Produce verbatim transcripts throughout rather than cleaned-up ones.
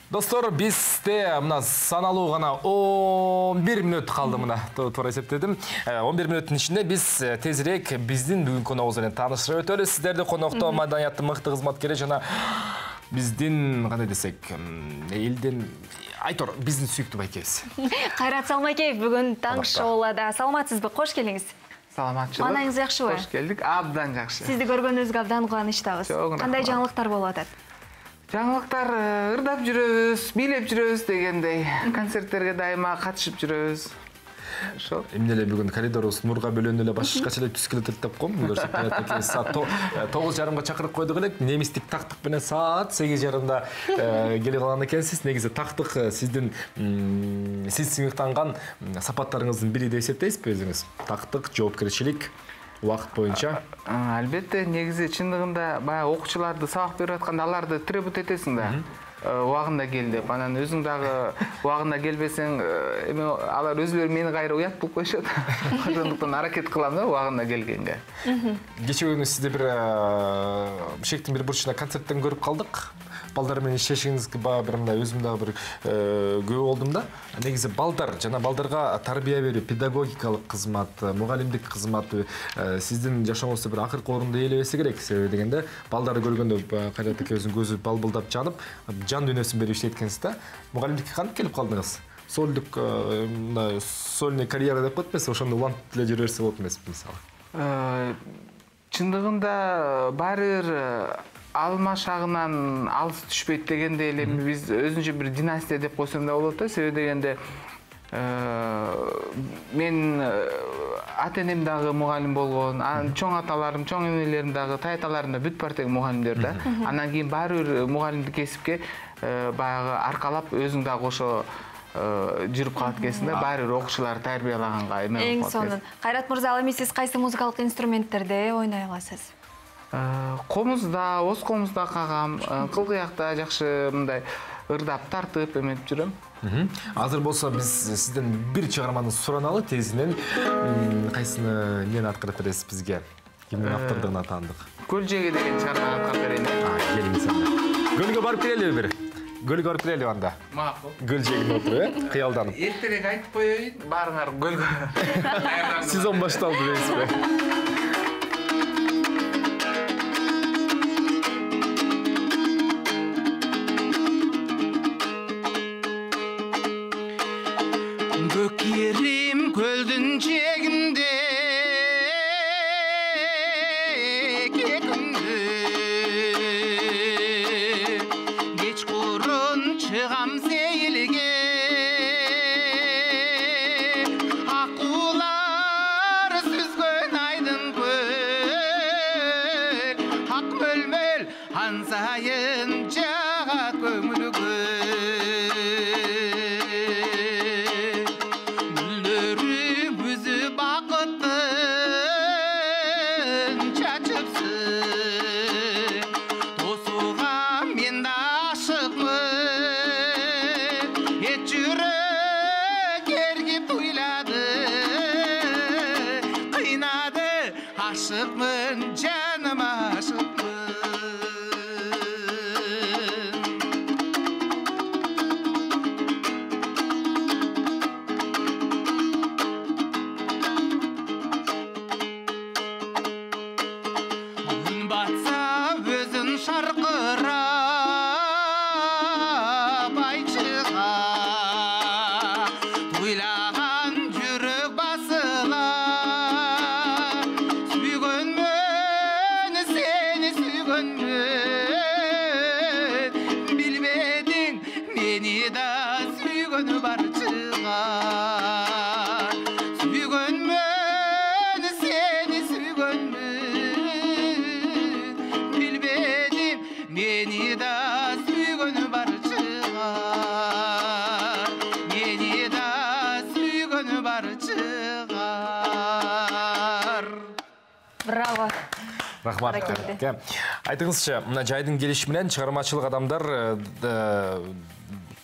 Достор, бизде мына саналуу гана он бир мүнөт калды мына. Туура эсептедим. он бир мүнөттүн ичинде биз тезирээк биздин бүгүнкү коногубуз менен таанышып өтөлү. Сиздерди конокто маданияттын мыкты кызматкери жана биздин кандай десек, элдин Айтор, биздин сүйүктүү байкебиз. Кайрат Салмакеев бүгүн таң шоулада. Саламатсызбы? Кош келиңиз. Саламатчылык. Манаңыз жакшыбы? Кош келдик. Абдан жакшы. Сизди көргөнүбүзгө абдан кубанычтабыз. Кандай жаңылыктар болуп атат? Жаңылыктар ырдап жүрөбүз, бийлеп жүрөбүз дегендей. Концерттерге дайыма катышып жүрөбүз. Ошо. Эмне эле бүгүн коридорубуз нурга бөлөнүп эле башкача эле түс келет деп коем. Көрсөк каяктагы саат тогуз жарымга чакырып койдук элек. Немистик тактык менен саат сегиз жарымда келип калган экенсиз. Негизи тактык сиздин сиз сыймыктанган сапаттарыңыздын бири деп эсептейсизби өзүңүз? Тактык, жоопкерчилик убакыт боюнча. Албетте, негизи чындыгында баягы окуучуларды сабак берип атканда аларды требут этесиң да. Убагында кел деп. Анан өзүң дагы убагында келбесең, эме алар өзүлөрү мени кайра уят болуп коюшат. Ошондуктан аракет кылам да убагында келгенге. Кечээ күнү сизди бир шектин бир бурчунда концерттен көрүп калдык. Балдар менен иштешиңизге баа бир мындай өзүм дагы бир күбө болдум да. Негизи балдар жана балдарга тарбия берүү, педагогикалык кызмат, мугалимдик кызмат сиздин жашооңузда бир акыркы орунду ээлебесе керек. Себеби дегенде балдарды көргөндө Кайрат эке өзүнүн көзү балбылдап жанып, жан дүйнөсүн берип иштейт экенсиз да. Мугалимдикке кантип келип калдыңыз? Сольдук мындай сольный карьера деп коет эмеспи? Ошондо улантып деле жүрө берсе болот эмеспи мисалы? Чындыгында баары бир алма шагынан алыс түшпөйт дегенде эле биз өзүнчө бир династия деп койсом да болот да. Себеби дегенде мен ата-энем дагы мугалим болгон, чоң аталарым, чоң энелерим дагы, таяталарым да бүт бар тең мугалимдер да. Андан кийин баары бир мугалимдик кесипке баягы аркалап өзүң дагы ошо жүрүп калат экенсиң да. Баары бир окуучуларды тарбиялаганга эме болуп калат. Эң сонун. Кайрат мырза, ал эми сиз кайсы музыкалык инструменттерде ойной аласыз? Комузда, оз комузда кагам, кылгыякта жакшы мындай ырдап, тартып эметип жүрөм. Азыр болсо биз сизден бир чыгарманы сураналы тезинен. Кайсыны эмнени аткарып бересиз бизге? Кимдин автордугуна таандык? Көлжеги деген чыгарманы аткарып берейин. Келиңиз анда. Көлгө барып келели бир. Көлгө барып келели анда. Макул. Көлжегине отуруп, э? Кыялданып. Эртерээк айтып коеюн, баарыңар көлгө. Сезон башталды дейсизби? Көкерим көлдүн жегинде кекинде кечкурун чыгам сейилге акуулар сүзгөн айдын көл ак мөлмөл ан сайын жага көңүл aşıkmın canım aşıkmın. Gün batsa özün şarkıra bayçığa Duylagan yürek basılar bilmedin beni da süygönü barçığa süygönmün seni süygönmün bilmedin beni da süygönü barçığa beni da süygönü barçığa. Bravo. Рахмат. Айтыңызчы, мына жайдын келиши менен чыгармачылык адамдар,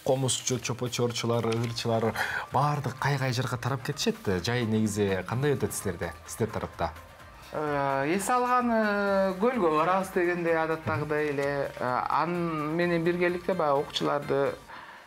комузчу, чопочорчулар, ырчылар баардык кай-кай жерге тарап кетишет. Жай негизи кандай өтөт сиздерде, сиздер тарапта? Эс алган көлгө барабыз дегенде адаттагыдай эле ан менен биргеликте баягы окуучуларды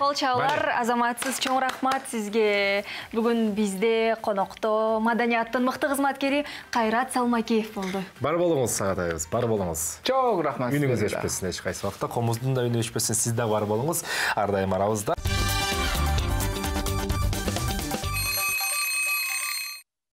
Кол чабуулар, Азаматсыз чоң рахмат сизге. Бүгүн бизде конокто маданияттын мыкты кызматкери Кайрат Салмакеев болду. Бар болуңуз Сагатайыбыз, бар болуңуз. Чоң рахмат. Үнүңүз өчпөсүн эч кайсы убакта, комуздун да үнү өчпөсүн, сиз да бар болуңуз. Ар дайым арабызда.